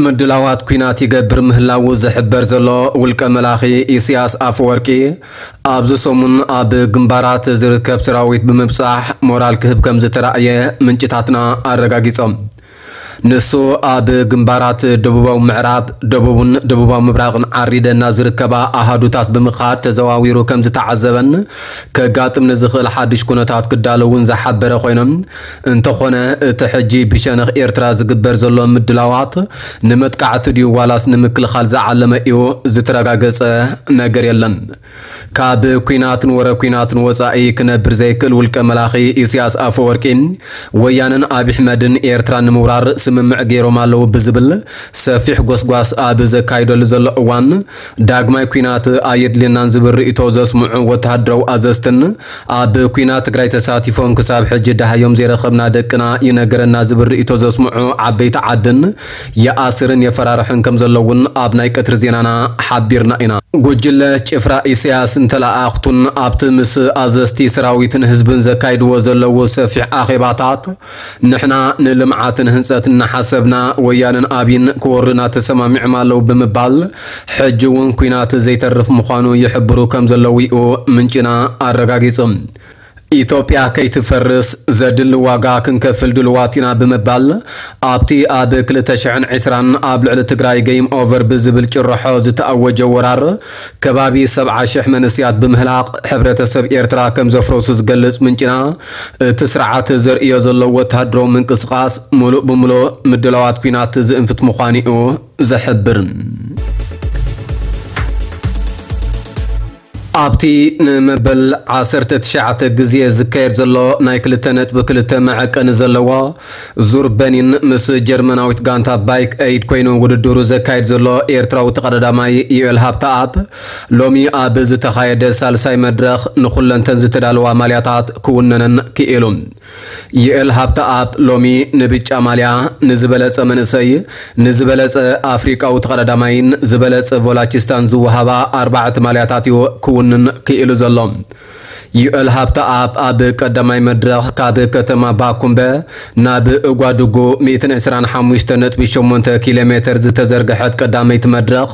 ምድላዋት ኲናት ይገብር ምህላዉ ዝሕበር ዘሎ ውልቀ መላኺ ኢሳያስ ኣፈወርቂ፣ ኣብዚ ሰሙን ኣብ ግንባራት ዝርከብ ሰራዊት ብምብጻሕ ሞራል ክህብ ከም ዝተራእየ ምንጭታትና ኣረጋጊጾም። ንሱ ኣብ ግንባራት ደቡባዊ ምዕራብ፣ ደቡብን ደቡባዊ ምብራቕን ዓሪደን ናብ ዝርከባ ኣሃዱታት ብምኻድ ተዘዋዊሩ ከም ዝተዓዘበን ከጋጥም ንዝኽእል ሓድሽ ኩነታት ክዳለውን ዝሓበረ ኮይኖም፣ እንተኾነ እቲ ሕጂ ብሸነኽ ኤርትራ ዝግበር ዘሎ ምድላዋት ንመጥቃዕቲ ድዩ ዋላስ ንምክልኻል ዝዓለመ እዩ ዝተረጋገጸ ነገር የለን። ካብ ኲናትን ወረ ኲናትን ወጻኢ ክነብር ዘይክእል ውልቀ መላኺ ኢሳያስ ኣፈወርቂ፣ ወያነን ኣብይ ኣሕመድን ኤርትራ ንምውራር ስምምዕ ገይሮም ኣለዉ ብዝብል ሰፊሕ ጎስጓስ ኣብ ዘካይደሉ ዘሎ እዋን፣ ዳግማይ ኲናት ኣየድልየናን ዝብል ርእይቶ ዘስምዑ ወተሃደራዊ ኣዘዝትን፣ ኣብ ኲናት ትግራይ ተሳቲፎም ክሳብ ሕጂ ደሃዮም ዘይረኸብና ደቅና ይነገረና ዝብል ርእይቶ ዘስምዑ ዓበይቲ ዓድን ይኣስርን የፈራርሕን ከም ዘለውን ኣብ ናይ ቀትሪ ዜናና ሓቢርና ኢና። ጉጅለ ጭፍራ ኢሳያስ እንተለኣኣኽቱን ኣብቲ ምስ ኣዘዝቲ ሰራዊትን ህዝብን ዘካይድዎ ዘለዉ ሰፊሕ ኣኼባታት፣ ንሕና ንልምዓትን ህንጸትን እናሓሰብና፣ ወያነን ኣብይን ክወሩና ተሰማሚዖም ኣለዉ ብምባል፣ ሕጂ እውን ኲናት ዘይተርፍ ምዃኑ ይሕብሩ ከም ዘለዉ እዩ ምንጭና ኣረጋጊጹ። ኢትዮጵያ ከይትፈርስ ዘድሊ ዋጋ ክንከፍል ድልዋት ኢና ብምባል፣ ኣብቲ ኣብ ክልተ ሽሕን ዕስራን ኣብ ልዕሊ ትግራይ ገይም ኦቨር ብዝብል ጭርሖ ዝተኣወጀ ወራር፣ ከባቢ ሰብዓ ሽሕ መንእሰያት ብምህላቕ ሕብረተሰብ ኤርትራ ከም ዘፍረሱ ዝገልጽ ምንጭና፣ እቲ ስርዓት ዘርእዮ ዘሎ ወተሃደራዊ ምንቅስቓስ፣ ምሉእ ብምሉእ ምድላዋት ኲናት ዝእንፍት ምዃኑ እዩ ዝሕብር። ኣብቲ ንመበል ዓሰርተ ትሽዓተ ግዜ ዝካየድ ዘሎ ናይ ክልተ ነጥቢ ክልተ መዐቀኒ ዘለዎ ዙር በኒን ምስ ጀርመናዊት ጋንታ ባይክ ኤይድ ኮይኑ ውድድሩ ዘካይድ ዘሎ ኤርትራዊ ተቐዳዳማይ ዩኤል ሃብተኣብ፣ ሎሚ ኣብ ዝተኻየደ ሳልሳይ መድረኽ ንኹለንተን ዝተዳለዋ ማልያታት ክውነነን ክኢሉ። ዩኤል ሃብተኣብ ሎሚ ንብጫ ማልያ፣ ንዝበለጸ መንእሰይ፣ ንዝበለጸ ኣፍሪቃዊ ተቐዳዳማይን ዝበለጸ ቮላቺስታን ዝወሃባ ኣርባዕተ ማልያታት እዩ ክውንን ክኢሉ ዘሎ። ዩኤል ሃብተኣብ ኣብ ቀዳማይ መድረኽ ካብ ከተማ ባኩምበ ናብ እጓድጉ ሚእትን ዕስራን ሓሙሽተ ነጥቢ ሸሞንተ ኪሎ ሜተር ዝተዘርግሐት ቀዳመይቲ መድረኽ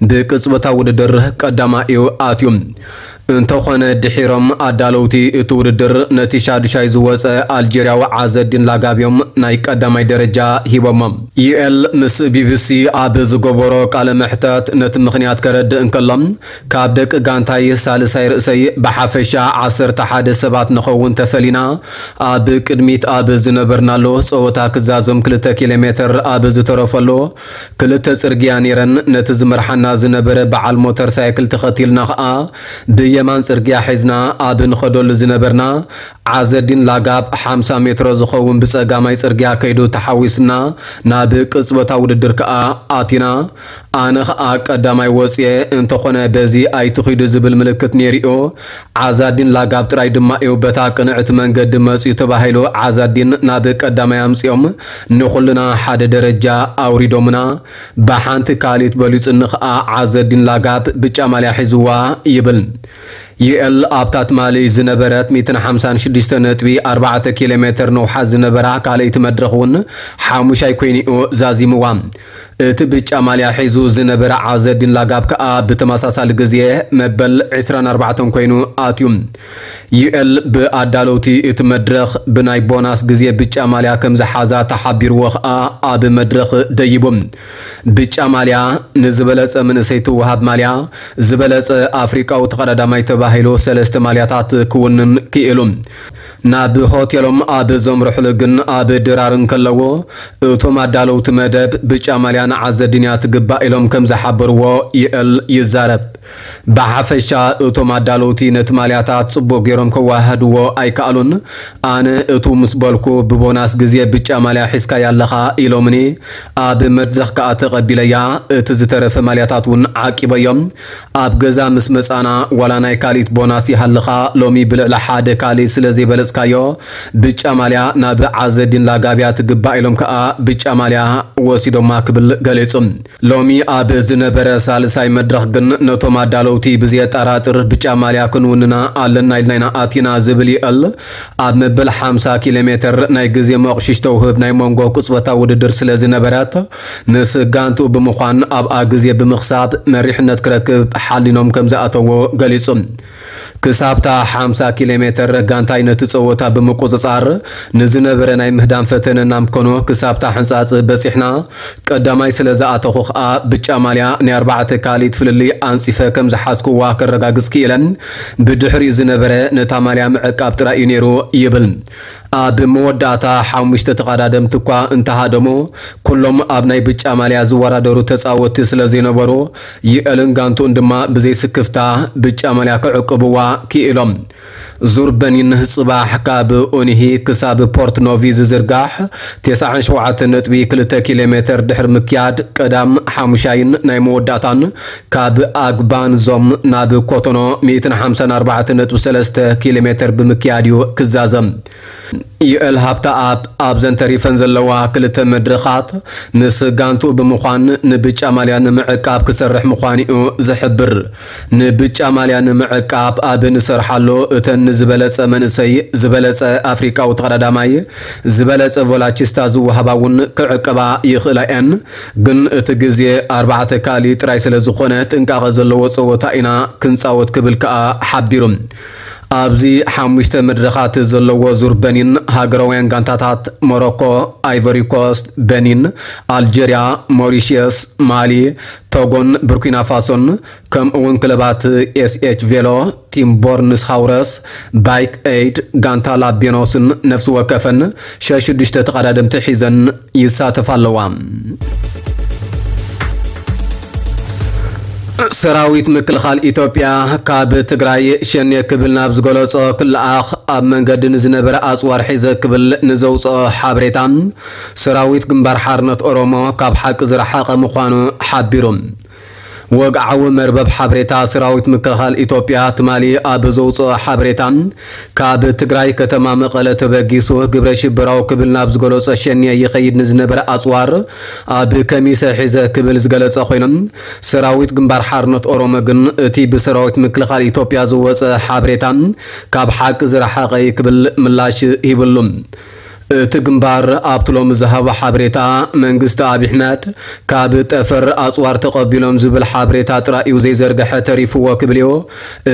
ብቅጽበታዊ ውድድር ቀዳማይ እዩ ኣትዩ። እንተኾነ ድሒሮም ኣዳለውቲ እቲ ውድድር ነቲ ሻዱሻይ ዝወጸ ኣልጀርያዊ ዓዘዲን ላጋብ እዮም ናይ ቀዳማይ ደረጃ ሂቦሞ። ዩኤል ምስ ቢቢሲ ኣብ ዝገበሮ ቃለ መሕተት ነቲ ምኽንያት ከረድእ እንከሎ፣ ካብ ደቂ ጋንታይ ሳልሳይ ርእሰይ ብሓፈሻ ዓሰርተ ሓደ ሰባት ንኸውን ተፈሊና፣ ኣብ ቅድሚት ኣብ ዝነበርናሉ ጸወታ ክዛዘም ክልተ ኪሎ ሜተር ኣብ ዝተረፈሉ ክልተ ጽርግያ ነይረን። ነቲ ዝመርሓና ዝነበረ በዓል ሞተር ሳይክል ተኸቲልና ኸኣ ብየማን ጽርግያ ሒዝና ኣብ ንኸደሉ ዝነበርና ዓዘዲን ላጋብ ሓምሳ ሜትሮ ዝኸውን ብጸጋማይ ጽርግያ ከይዱ ተሓዊስና ናብ ቅጽበታዊ ውድድር ከኣ ኣቲና። ኣነ ኸኣ ቀዳማይ ወጽየ፣ እንተኾነ በዚ ኣይትኺዱ ዝብል ምልክት ነይሩ'ዩ። ዓዛዲን ላጋብ ጥራይ ድማ እዩ በታ ቅንዕቲ መንገዲ መጽዩ ተባሂሉ። ዓዛዲን ናብ ቀዳማይ ኣምጺኦም ንኹልና ሓደ ደረጃ ኣውሪዶምና። ብሓንቲ ካልኢት በሊጹኒ ኸኣ ዓዘዲን ላጋብ ብጫ ማልያ ሒዝዋ ይብል። ዩኤል ኣብታ ትማሊ ዝነበረት ሚእትን ሓምሳን ሽዱሽተ ነጥቢ ኣርባዕተ ኪሎ ሜተር ነውሓት ዝነበራ ካልኣይቲ መድረኽ እውን ሓሙሻይ ኮይኑ'ዩ ዛዚምዋ። እቲ ብጫ ማልያ ሒዙ ዝነበረ ዓዘዲን ላጋብ ከኣ ብተመሳሳሊ ግዜ መበል ዕስራን ኣርባዕተን ኮይኑ ኣትዩ። ዩኤል ብኣዳለውቲ እቲ መድረኽ ብናይ ቦናስ ግዜ ብጫ ማልያ ከም ዝሓዛ ተሓቢርዎ ከኣ ኣብ መድረኽ ደይቡ። ብጫ ማልያ ንዝበለጸ መንእሰይ ትወሃብ ማልያ፣ ዝበለጸ ኣፍሪቃዊ ተቐዳዳማይ ተባሂሉ ሰለስተ ማልያታት ክውንን ክኢሉ። ናብ ሆቴሎም ኣብ ዘምርሕሉ ግን ኣብ ድራር እንከለዎ፣ እቶም ኣዳለውቲ መደብ ብጫ ማልያ ንዓዘዲንያ ትግባእ ኢሎም ከም ዝሓበርዎ ዩኤል ይዛረብ። ብሓፈሻ እቶም ኣዳለውቲ ነቲ ማልያታት ጽቡቕ ገይሮም ከወሃህድዎ ኣይከኣሉን። ኣነ እቱ ምስ በልኩ ብቦናስ ግዜ ብጫ ማልያ ሒዝካያ ኣለኻ ኢሎምኒ። ኣብ መድረኽ ከኣ ተቐቢለያ፣ እቲ ዝተረፈ ማልያታት እውን ዓቂበዮም። ኣብ ገዛ ምስ መጻና ዋላ ናይ ካልኢት ቦናስ ይሃልኻ፣ ሎሚ ብልዕሊ ሓደ ካልእ ስለ ዘይበለጽካዮ ብጫ ማልያ ናብ ዓዘዲን ላጋብያ ትግባእ ኢሎም ከኣ ብጫ ማልያ ወሲዶማ ክብል ገሊጹ። ሎሚ ኣብ ዝነበረ ሳልሳይ መድረኽ ግን ነቶም ኣዳለውቲ ብዘየጠራጥር ብጫ ማልያ ክንውንና ኣለና ኢልና ኢና ኣቲና ዝብል ይእል ኣብ መበል ሓምሳ ኪሎ ሜትር ናይ ግዜ መቑሽሽ ተውህብ ናይ መንጎ ቅጽበታዊ ውድድር ስለ ዝነበረት፣ ምስ ጋንትኡ ብምዃን ኣብኣ ግዜ ብምኽሳብ መሪሕነት ክረክብ ሓሊኖም ከም ዝኣተዎ ገሊጹ። ክሳብታ ሓምሳ ኪሎ ሜትር ጋንታይ ነቲ ጸወታ ብምቁጽጻር ንዝነበረ ናይ ምህዳም ፈተነ እናምከኖ ክሳብታ ሕንጻጽ በጺሕና። ቀዳማይ ስለ ዝኣተኹ ኸኣ ብጫ ማልያ ናይ ኣርባዕተ ካልኢት ፍልልይ ኣንጺፈ ከም ዝሓዝኩዋ ከረጋግጽ ክኢለ። ብድሕሪኡ ዝነበረ ነታ ማልያ ምዕቃብ ጥራይ እዩ ነይሩ ይብል። ኣብ መወዳእታ ሓሙሽተ ተቐዳደምቲ እኳ እንተሃደሙ፣ ኩሎም ኣብ ናይ ብጫ ማልያ ዝወዳደሩ ተጻወትቲ ስለ ዘይነበሩ፣ ይእልን ጋንትኡን ድማ ብዘይስክፍታ ብጫ ማልያ ክዕቅብዋ ክኢሎም። ዙር በኒን ጽባሕ ካብ ኡኒሂ ክሳብ ፖርት ኖቪ ዝዝርጋሕ ተስዓን ሸውዓተን ነጥቢ ክልተ ኪሎ ሜትር ድሕሪ ምክያድ፣ ቀዳም፣ ሓሙሻይን ናይ መወዳእታን ካብ ኣግባንዞም ናብ ኮቶኖ ሚእትን ሓምሳን ኣርባዕተን ነጥቢ ሰለስተ ኪሎ ሜትር ብምክያድ እዩ ክዛዘም። ዩኤል ሃብተኣብ ኣብዘን ተሪፈን ዘለዋ ክልተ መድረኻት ምስ ጋንትኡ ብምዃን ንብጫ ማልያ ንምዕቃብ ክሰርሕ ምዃኑ እዩ ዝሕብር። ንብጫ ማልያ ንምዕቃብ ኣብ ንሰርሓሉ እተን ንዝበለጸ መንእሰይ፣ ዝበለጸ ኣፍሪቃዊ ተቐዳዳማይ፣ ዝበለጸ ቮላቺስታ ዝወሃባ እውን ክዕቀባ ይኽእላ እየን። ግን እቲ ግዜ ኣርባዕተ ካልእ ጥራይ ስለ ዝኾነ ጥንቃቐ ዘለዎ ጸወታ ኢና ክንጻወት ክብል ከኣ ሓቢሩ። ኣብዚ ሓሙሽተ መድረኻት ዘለዎ ዙር በኒን ሃገራውያን ጋንታታት ሞሮኮ፣ ኣይቨሪ ኮስት፣ በኒን፣ ኣልጀርያ፣ ሞሪሽየስ፣ ማሊ፣ ቶጎን ቡርኪና ፋሶን ከምኡ እውን ክለባት ኤስኤች ቬሎ፣ ቲም ቦርንስ ሃውረስ፣ ባይክ ኤይድ፣ ጋንታ ላቤኖስን ነፍሲ ወከፈን ሸሽዱሽተ ተቐዳደምቲ ሒዘን ይሳተፋ ኣለዋ። ሰራዊት ምክልኻል ኢትዮጵያ ካብ ትግራይ ሸኔ ክብል ናብ ዝገለጾ ክለኣኽ ኣብ መንገዲ ንዝነበረ ኣጽዋር ሒዘ ክብል ንዘውፅኦ ሓበሬታ ሰራዊት ግንባር ሓርነት ኦሮሞ ካብ ሓቂ ዝረሓቐ ምዃኑ ሓቢሩ። ወግዓዊ መርበብ ሓበሬታ ሰራዊት ምክልኻል ኢትዮጵያ ትማሊ ኣብ ዘውፅኦ ሓበሬታ፣ ካብ ትግራይ ከተማ መቐለ ተበጊሱ ግብረ ሽበራዊ ክብል ናብ ዝገለጾ ሸኔ ይኸይድ ንዝነበረ ኣጽዋር ኣብ ከሚሰ ሒዘ ክብል ዝገለጸ ኮይኑ፣ ሰራዊት ግንባር ሓርነት ኦሮሞ ግን እቲ ብሰራዊት ምክልኻል ኢትዮጵያ ዝወጸ ሓበሬታ ካብ ሓቂ ዝረሓቐ እዩ ክብል ምላሽ ሂብሉ። እቲ ግንባር ኣብቲ ሎሚ ዝሃቦ ሓበሬታ፣ መንግስቲ ኣብይ ኣሕመድ ካብ ጠፈር ኣጽዋር ተቐቢሎም ዝብል ሓበሬታ ጥራይ እዩ ዘይዘርግሐ ተሪፍዎ ክብል እዩ።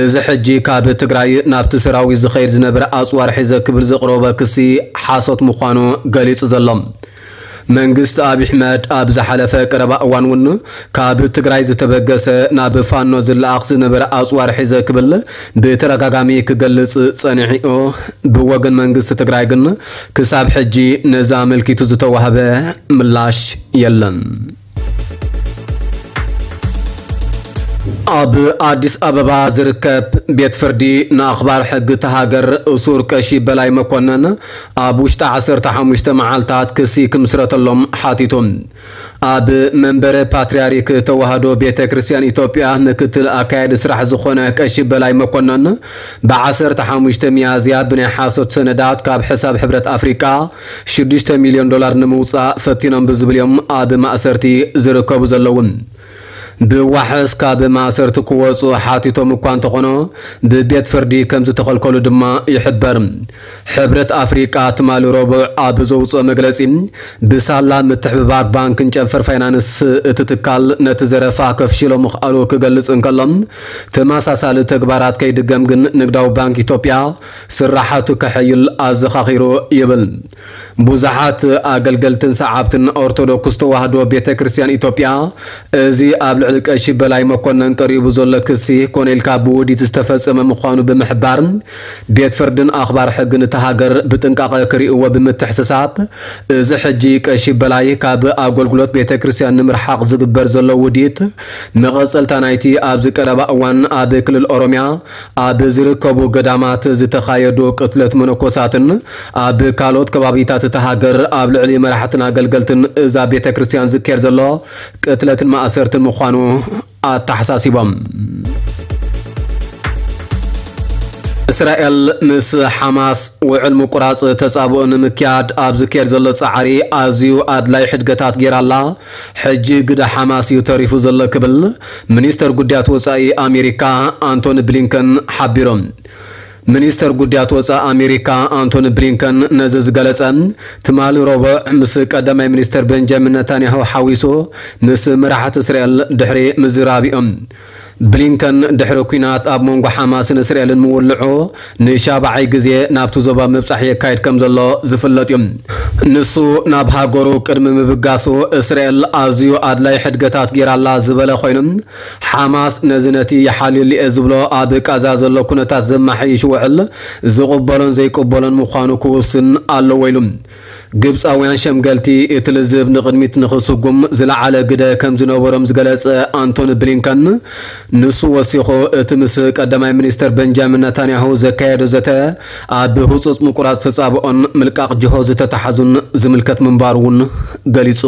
እዚ ሕጂ ካብ ትግራይ ናብቲ ሰራዊት ዝኸይድ ዝነበረ ኣጽዋር ሒዘ ክብል ዘቕረቦ ክሲ ሓሶት ምዃኑ ገሊጹ ዘሎ። መንግስቲ ኣብይ ኣሕመድ ኣብ ዝሓለፈ ቀረባ እዋን እውን ካብ ትግራይ ዝተበገሰ ናብ ፋኖ ዝለኣኽ ዝነበረ ኣጽዋር ሒዘ ክብል ብተደጋጋሚ ክገልጽ ጸኒሑ። ብወገን መንግስቲ ትግራይ ግን ክሳብ ሕጂ ነዚ ኣመልኪቱ ዝተዋህበ ምላሽ የለን። ኣብ ኣዲስ ኣበባ ዝርከብ ቤት ፍርዲ ንኣኽባር ሕጊ እታ ሃገር እሱር ቀሺ በላይ መኮነን ኣብ ውሽጢ ዓሰርተ ሓሙሽተ መዓልታት ክሲ ክምስረተሎም ሓቲቱ። ኣብ መንበረ ፓትርያርክ ተዋህዶ ቤተ ክርስቲያን ኢትዮጵያ ምክትል ኣካያዲ ስራሕ ዝኾነ ቀሺ በላይ መኮነን፣ ብዓሰርተ ሓሙሽተ ሚያዝያ ብናይ ሓሶት ሰነዳት ካብ ሕሳብ ሕብረት ኣፍሪቃ ሽዱሽተ ሚልዮን ዶላር ንምውጻእ ፈቲኖም ብዝብል እዮም ኣብ ማእሰርቲ ዝርከቡ ዘለዉ። ብዋሕስ ካብ ማእሰርቲ ክወጹ ሓቲቶም እኳ እንተኾኑ፣ ብቤት ፍርዲ ከም ዝተኸልከሉ ድማ ይሕበር። ሕብረት ኣፍሪቃ ትማሊ ረቡዕ ኣብ ዘውጽኦ መግለጺ፣ ብሳላ ምትሕብባር ባንክን ጨንፈር ፋይናንስ እቲ ትካል ነቲ ዘረፋ ከፍሽሎ ምኽኣሉ ክገልጽ እንከሎ፣ ተመሳሳሊ ተግባራት ከይድገም ግን ንግዳዊ ባንክ ኢትዮጵያ ስራሓቱ ከሐይል ኣዘኻኺሩ ይብል። ብዙሓት ኣገልገልትን ሰዓብትን ኦርቶዶክስ ተዋህዶ ቤተ ክርስቲያን ኢትዮጵያ፣ እዚ ኣብ ልዕሊ ቀሺ በላይ መኮነን ቀሪቡ ዘሎ ክሲ ኮነ ኢልካ ብውዲት ዝተፈጸመ ምዃኑ ብምሕባር፣ ቤት ፍርድን ኣኽባር ሕግን እታ ሃገር ብጥንቃቐ ክርእይዎ ብምትሕስሳብ፣ እዚ ሕጂ ቀሺ በላይ ካብ ኣገልግሎት ቤተ ክርስቲያን ንምርሓቕ ዝግበር ዘሎ ውዲት፣ መቐጸልታ ናይቲ ኣብዚ ቀረባ እዋን ኣብ ክልል ኦሮሚያ ኣብ ዝርከቡ ገዳማት ዝተኻየዱ ቅትለት መነኮሳትን ኣብ ካልኦት ከባቢታት እታ ሃገር ኣብ ልዕሊ መራሕትን ኣገልገልትን እዛ ቤተ ክርስቲያን ዝካየድ ዘሎ ቅትለትን ማእሰርትን ምዃኑ ኣተሓሳሲቦም። እስራኤል ምስ ሓማስ ውዕል ምቁራጽ ተጻብኦ ንምክያድ ኣብ ዝካየድ ዘሎ ጻዕሪ ኣዝዩ ኣድላይ ሕድገታት ገይራላ። ሕጂ ግደ ሓማስ እዩ ተሪፉ ዘሎ ክብል ሚኒስተር ጉዳያት ወጻኢ ኣሜሪካ ኣንቶኒ ብሊንከን ሓቢሮም። ሚኒስተር ጉዳያት ወጻኢ ኣሜሪካ ኣንቶኒ ብሊንከን ነዚ ዝገለጸ ትማሊ ረቡዕ ምስ ቀዳማይ ሚኒስተር ቤንጃሚን ነታንያሁ ሓዊሱ ምስ መራሕቲ እስራኤል ድሕሪ ምዝራብ እዮም። ብሊንከን ድሕሪ ኲናት ኣብ መንጎ ሓማስን እስራኤልን ምውልዑ ንሻብዓይ ግዜ ናብቲ ዞባ ምብጻሕ የካይድ ከም ዘሎ ዝፍለጥ እዩ። ንሱ ናብ ሃገሩ ቅድሚ ምብጋሱ እስራኤል ኣዝዩ ኣድላይ ሕድገታት ገይራላ ዝበለ ኮይኑ፣ ሓማስ ነዚ ነቲ ይሓልየሉ እየ ዝብሎ ኣብ ቃዛ ዘሎ ኩነታት ዘመሓይሽ ውዕል ዝቕበሎን ዘይቅበሎን ምዃኑ ክውስን ኣለዎ ኢሉ። ግብጻውያን ሸምገልቲ እቲ ልዝብ ንቕድሚት ንኽስጉም ዝለዓለ ግደ ከም ዝነበሮም ዝገለጸ ኣንቶኒ ብሊንከን፣ ንሱ ወሲኹ እቲ ምስ ቀዳማይ ሚኒስተር ቤንጃሚን ነታንያሁ ዘካየዶ ዘተ ኣብ ህጹጽ ምቁራጽ ተጻብኦን ምልቃቕ ጅሆ ዝተተሓዙን ዝምልከት ምንባሩ እውን ገሊጹ።